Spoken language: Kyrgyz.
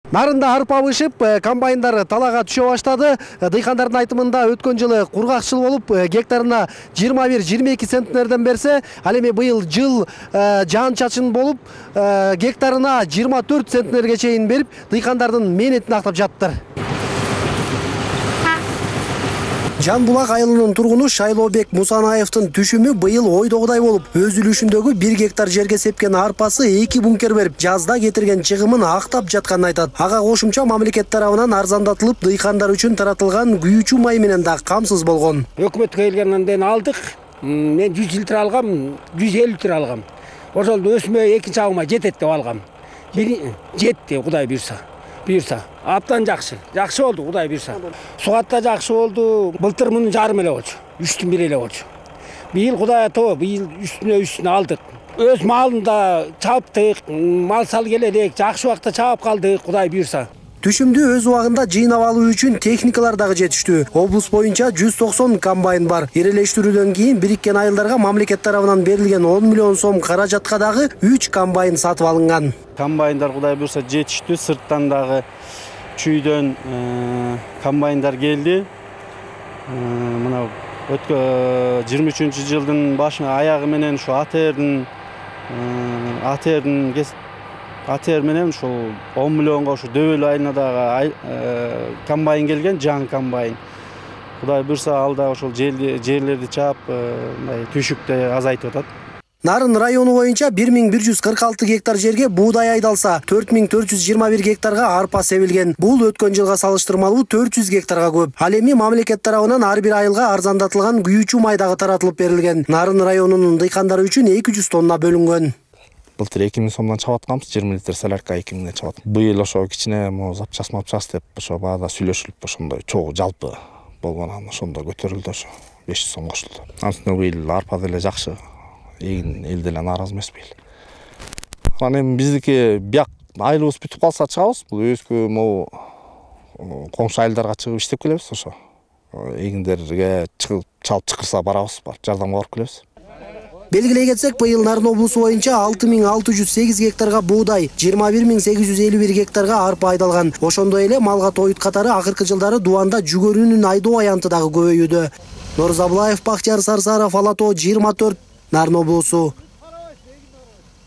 Нарында арпа бышып, комбайндар талага түшө баштады. Дыйкандардын айтымында өткөн жылы кургакчыл болуп, гектарына 21-22 центнерден берсе, ал эми быйыл жыл жаан-чачын болуп, гектарына 24 центнерге чейин берип, дыйкандардын мээнетин актап жатыптыр. Жанбулак айылынын тургуну Шайлообек Мусанаевдин түшүмү быйыл ойдогудай болуп, өз үлүшүндөгү 1 гектар жерге сепкен арпасы 2 бункер берип, жазда кетирген чыгымын актап жатканын айтат. Ага кошумча мамлекет тарабынан арзандатылып, дыйкандар үчүн таратылган күйүүчү май менен да камсыз болгон. Өкмөткө келгенден кийин алдык. Мен 100 литр алгам, 150 литр алгам. Ошол өсмө экинчи абыма жетет деп алгам. Жетти, Кудай буйрса. Аптан жакшы болду, Кудай буйрса. Сугатта жакшы болду. Былтыр мунун жарым эле болчу, 3-түн 1 эле болчу. Быйыл Кудай тоо, быйыл үстүнө алдык. Өз малында чаптык, мал сал келедик, жакшы убакта чаап калдык, Кудай буйрса. Түшүмдү өз убагында жыйнап алуу үчүн техникалар дагы жетиштүү. Облус боюнча 190 комбайн бар. Ирелештирүүдөн кийин бириккен айылдарга мамлекет тарабынан берилген 10 миллион сом каражатка дагы 3 комбайн сатып алынган. Комбайндар Кудай буйрса жетиштүү, сырттан дагы чүйдөн комбайндар келди. Мына өткөн 23-жылдын башына аягы менен ушу АТР менен ушул 10 миллионго ушу Дөбөл айылына дагы комбайн келген, жаңы комбайн. Кудай буйрса ал да ошол жерлерди чаап, мындай түшүктү азайтып атат. Нарын району боюнча 1146 гектар жерге буудай айдалса, 4421 гектарга арпа себилген. Бул өткөн жылга салыштырмалуу 400 гектарга көп. Ал эми мамлекет тарабынан ар бир айылга арзандатылган күйүүчү май дагы таратылып берилген. Нарын районунун дыйкандары үчүн 200 тонна бөлүнгөн. Былтыр 2000 сомдон чабып атканбыз, 20 литр солярка 2000ден чабат. Быйыл ошо кичине запчас деп ошо баада сүйлөшүлүп, ошондой чогуу жалпы болгон, ошондо көтөрүлдү, ошо 500 сом кошулду. Антип быйыл арпа деле жакшы. Эл деле нааразы эмес быйыл. Анан эми биздики бияк айылыбыз бүтүп калса чыгабыз. Бул өзгө могу коңшу айылдарга чыгып иштеп келебиз, ошо. Эгиндерге чалып чакырса барабыз, жардамга барып келебиз. Белгилей кетсек, быйыл Нарын облусу боюнча 6608 гектарга буудай, 21851 гектарга арпа айдалган. Ошондой эле малга тоют катары акыркы жылдары дубанда жүгөрүнүн айдоо аянты дагы көбөйүүдө. Норзабулаев, Бактияр Сарсаров, Ала тоо 24, Нарын облусу.